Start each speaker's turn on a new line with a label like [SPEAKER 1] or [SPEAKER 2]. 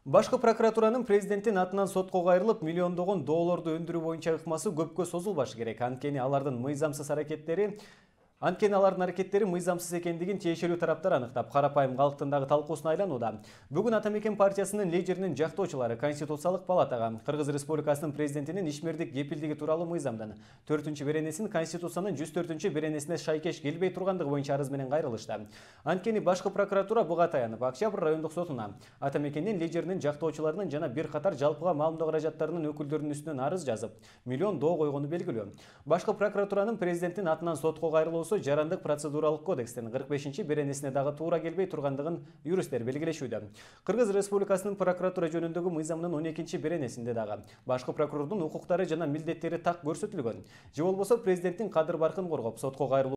[SPEAKER 1] Башкы прокуратуранын президенттин атынан сотко кайрылып, миллиондогон долларды өндүрүү боюнча ыкмасы көпкө созулбашы керек. Анткени алардын аракеттери мыйзамсыз экендигин тиешелүү тараптар аныктап, карапайым калктын дагы талкуусуна айланууда. Бүгүн Ата Мекен партиясынын лидеринин жактоочулары Конституциялык палатага Кыргыз Республикасынын президентинин ишмердик кепилдиги тууралуу мыйзамдын 4-беренесин Конституциянын 104-беренесине шайкеш келбей тургандыгы боюнча арыз менен кайрылышты. Анткени башкы прокуратура буга таянып, Октябрь райондук сотуна Ата Мекендин лидеринин жактоочуларынын жана бир катар жалпыга маалымдоо каражаттарынын өкүлдөрүнүн үстүнөн арыз жазып, миллион доо койгону белгилүү. Башкы прокуратуранын президенттин атынан сотко кайрылуусу жарандык процедуралык кодекстин 45-беренесине дагы туура келбей тургандыгын юристтер белгилешүүдө. Кыргыз Республикасынын прокуратура жөнүндөгү мыйзамынын 12-беренесинде дагы башкы прокурордун укуктары жана милдеттери так көрсөтүлгөн. Же болбосо президенттин кадыр баркын коргоп, сотко кайрылуу